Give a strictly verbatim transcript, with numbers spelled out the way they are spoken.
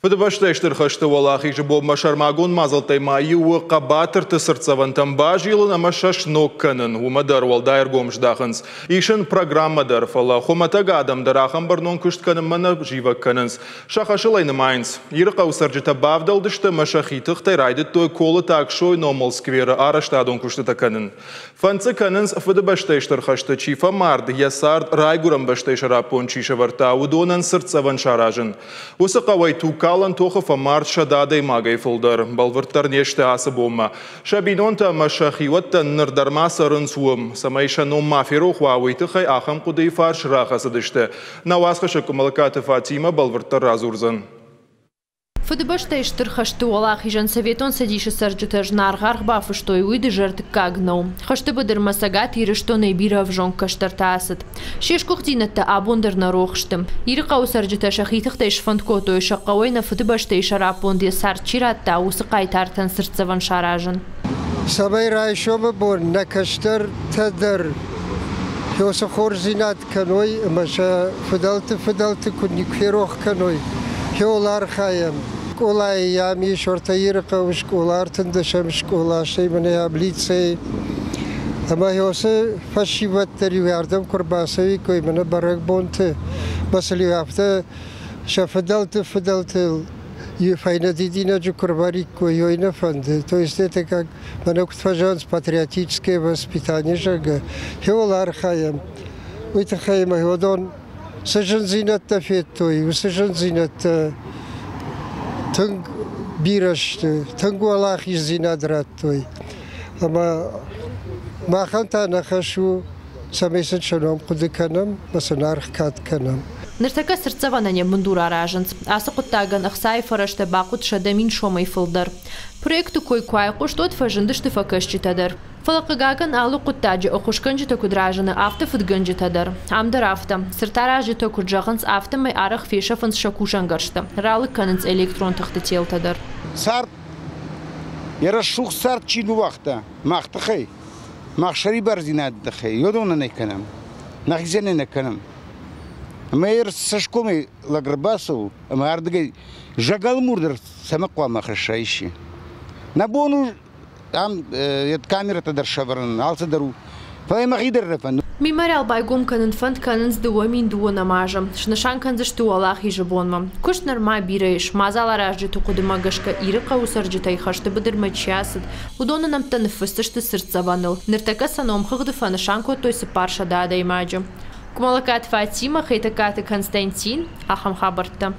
Фыдыбӕстӕйы Стыр хӕсты Уӕлахизы бонмӕ сӕрмагонд мадзӕлттӕй ма иу у хъӕбатырты цыртдзӕвӕнтӕм базилын ӕмӕ сӕ сног кӕнын. Уымӕ дӕр уӕлдай ӕргом здахынц. Ис ын программӕ дӕр, фӕлӕ хуымӕтӕг адӕм дӕр ахӕм бӕрнон куыст кӕнынмӕ нӕ зивӕг кӕнынц. Сӕ хӕсыл ӕй нымайынц. Ирыхъӕуы цӕрджытӕ бавдӕлдысты ӕмӕ сӕхи тыхтӕй райдыдтой Колыты Аксойы номыл скверы арӕзтадон куыстытӕ кӕнын. Фӕнд дзы кӕнынц, Фыдыбӕстӕйы Стыр хӕсты чи фӕмард, йӕ цард райгуырӕн бӕстӕйы сӕраппонд чи сӕвӕрдта, уыдонӕн цыртдзӕвӕн саразын. Уыцы хъӕуӕй тугкалӕн тохы фӕмард сӕдӕ адӕймагӕй фылдӕр. Бӕлвырддӕр не сты ацы бонмӕ. Сӕ бинонтӕ ӕмӕ сӕ хиуӕттӕ ныр дӕр ма цӕрынц уым. Цӕмӕй сӕ ном ма ферох уа, уый тыххӕй ахӕм хъуыдыйы фарс рахӕцыдысты. Нӕ уацхӕссӕг Къуымӕллӕгкаты Фатимӕ бӕлвырддӕр радзурдзӕн. Фыдыбӕстӕйы Стыр хӕсты Уӕлахизӕн Советон Цӕдисы цӕрджытӕ зынаргъ аргъ бафыстой, уый дызӕрдыггаг нӕу. Хӕсты быдырмӕ Цӕгат Ирыстонӕй бирӕ ӕвзонг кӕстӕртӕ ацыд. Се сгуыхтдзинӕдтӕ абон дӕр нӕ рох сты. Ирыхъӕуы цӕрджытӕ сӕхи тыхтӕй сфӕнд кодтой, сӕ хъӕуӕй нӕ Фыдыбӕстӕйы сӕраппонд йӕ цард чи радта, уыцы хъайтартӕн цыртдзӕвӕн саразын. Цӕмӕй райсомы бон нӕ кӕстӕртӕ дӕр уыцы хорздзинад кӕной ӕмӕ сӕ фыдӕлты фыдӕлты куыд никуы ферох кӕной, хиуыл архайӕм. Скъолайы йӕм ис ӕртӕ Ирыхъӕуы скъола, ӕртындӕсӕм скъола, стӕй мӕнӕ йӕм лицей. Ӕмӕ уыцы фӕсивӕд дӕр иу ардӕм куы ӕрбацӕуиккой мӕнӕ бӕрӕгбонты, мӕ афтӕ сӕ фыдӕлты фыдӕлтыл фӕйнӕ дидинӕджы куы ӕрвӕриккой, уый нӕ фӕнды. То есть это как мӕнӕ куыд фӕзӕгъынц патриотическое воспитание, зӕгъгӕ, хиуыл архайӕм. Уый тыххӕй ӕмӕ уыдон цы зындзинӕдтӕ федтой, уыцы зындзинӕдтӕ тынг бирӕ сты, тынг уӕлахиздзинад радтой. Ӕмӕ махӕн та нӕ хӕс у, цӕмӕй сын сӕ ном хъуыды кӕнӕм ӕмӕ сын аргъ кад кӕнӕм. Ныртӕккӕ цыртдзӕвӕнӕн йӕ бындур аразынц. Ацы хъуыддагӕн ӕхцайы фӕрӕзтӕ бахъуыд сӕдӕ мин сомӕй фылдӕр. Проекты кой куы айхъуыст, уӕд фӕзындысты фӕкӕсджытӕ дӕр. Фӕлӕ хъыгагӕн алы хъуыддаджы ӕххуысгӕнджытӕ куыд разыны, афтӕ фыдгӕнджытӕ дӕр. Ам дӕр афтӕ. Цыртаразджытӕ куыд зӕгъынц, афтӕмӕй арӕх фесӕфынц сӕ кусӕнгӕрзтӕ. Ралыг кӕнынц электрон тыхты телтӕ дӕр. Цард, йӕ рӕсугъд цард чи ныууагъта, мах тыххӕй, мах сӕрибардзинады тыххӕй, уыдоны нӕ кӕнӕм, нӕхицӕн нӕ кӕнӕм. Ӕмӕ йӕ цӕсгомӕй лӕг ӕрбацӕуы ӕмӕ ардыгӕй зӕгӕлмур дӕр цӕмӕ хъуамӕ хӕсса исчи. Нӕ бон у ам камерӕтӕ дӕр сӕвӕрын, алцыдӕр у. Фӕлӕ мӕхи дӕр нӕ фӕнды. Мемориал байгом кӕнын фӕнд кӕнынц дыууӕ мин дыууынӕм азы. Снысан кӕндзысты Уӕлахизы бонмӕ. Куыст нырма бирӕ ис. Мадзаларазджыты хъуыдымӕ гӕсгӕ Ирыхъӕуы цӕрджытӕй хӕсты быдырмӕ чи ацыд, уыдоны нӕмттӕ ныффысдзысты цыртдзӕвӕныл. Ныртӕккӕ сӕ номхыгъды фӕнысан кодтой цыппарсӕдӕ адӕймаджы. Къуымӕллӕгкаты Фатимӕ, Хетӕгкаты Константин, ахӕм хабӕрттӕ.